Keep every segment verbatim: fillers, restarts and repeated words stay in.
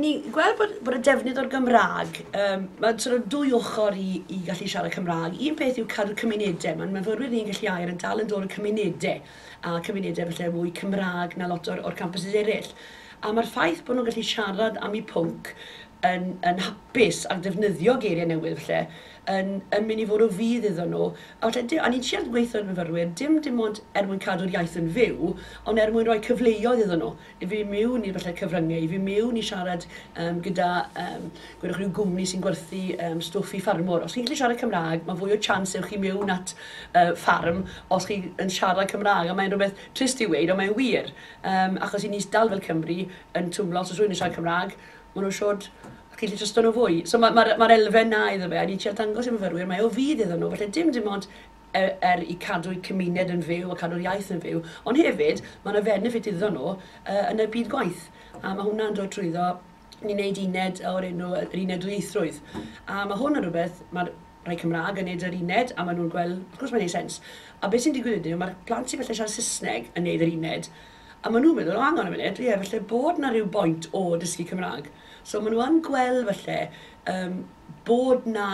I ni gweld bod, bod y defnydd o'r Gymraeg, um, mae sort of dwy ochr i, i gallu siarad Cymraeg. Un peth yw cadw cymunedau. Mae'n myfyrwyr ni'n gallu air yn dal yn dod o cymunedau, a cymunedau falle mwy Cymraeg na lot o'r, o'r campuses eraill. A mae'r ffaith bod nhw'n gallu siarad am eu pwnc yn, yn hapus ac defnyddio geiriau newydd falle, yn, yn mynd i fod o fudd iddyn nhw. A, falle, a ni'n trial gweithio i'r myfyrwyr, dim dim ond er mwyn cadw'r iaith yn fyw, ond er mwyn rhoi cyfleoedd iddyn nhw. I fi mewn i'r falle cyfryngau, i fi mewn i siarad um, gyda um, gwedwch rhyw gwmni sy'n gwerthu um, stwff i ffarmwr. Os chi'n gallu siarad Cymraeg, mae fwy o chance ewch chi mewn at uh, ffarm os chi yn siarad Cymraeg. A mae'n rhywbeth trist i weud, ond mae'n wir. Um, achos i ni dal fel Cymru yn twmlo, os oes rhywun yn siarad Cymraeg, maen nhw'n siŵr chi'n gallu trysto nhw fwy. So mae'r ma, ma, ma elfen na iddo fe, a ni'n trial dangos i myfyrwyr, mae o fudd iddyn nhw, felly dim dim ond er, er i cadw'u cymuned yn fyw a cadw'r iaith yn fyw, ond hefyd mae yna benefit iddyn nhw uh, yn y byd gwaith. A mae hwnna'n dod trwyddo, ni'n neud uned o'r enw, yr uned dwyieithrwydd. A mae hwn yn rhywbeth, mae'r rhai Cymraeg yn neud yr uned, a maen nhw'n gweld, wrth gwrs mae'n neud sens. A beth sy'n digwydd ydy, mae'r plant sy'n felly siarad Saesneg yn neud yr uned, a maen nhw'n meddwl, "O, hang on a minute, ie, felly bod na rhyw boint o dysgu Cymraeg." So maen nhw yn gweld felly um, bod na,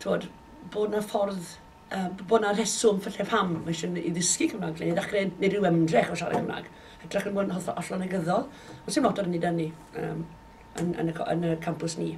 t'wod, bod na ffordd, uh, bod na reswm felly pam mae eisiau i ddysgu Cymraeg, neu ddechrau neu rhyw ymdrech o siarad Cymraeg. Hytrach yn bod yn hollol negyddol. Ond sy'n lot o'r hynny da ni um, yn, yn, y, yn y campws ni.